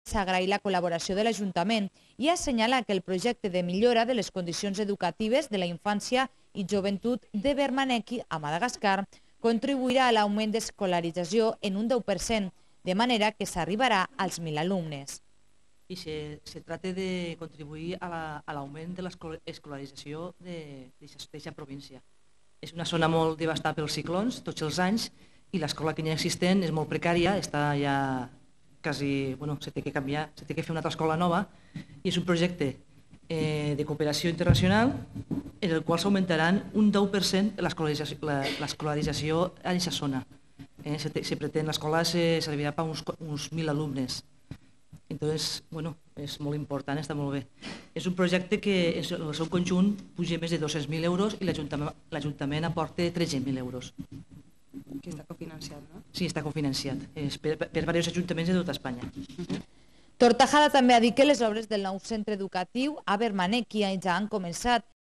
s'agrair la col·laboració de l'Ajuntament i assenyala que el projecte de millora de les condicions educatives de la infància i joventut de Bermaneki a Madagascar contribuirà a l'augment d'escolarització en un 10%, de manera que s'arribarà als 1.000 alumnes. Y se trata de contribuir a l'augment de l'escolarització d'aquesta província. És una zona molt devastada pels ciclons tots els anys i l'escola que hi ha existent és molt precària, està ja quasi, se té que canviar, se té que fer una altra escola nova i és un projecte de cooperació internacional en el qual s'augmentaran un 10% l'escolarització a aquesta zona. Se pretén, l'escola servirà per uns 1.000 alumnes. Entonces, és molt important, està molt bé. És un projecte que en el seu conjunt puja més de 200.000 euros i l'Ajuntament aporta 13.000 euros. Que està cofinanciat, no? Sí, està cofinanciat. És per diversos ajuntaments de tota Espanya. Tortajada també ha dit que les obres del nou centre educatiu a Bermaneki ja han començat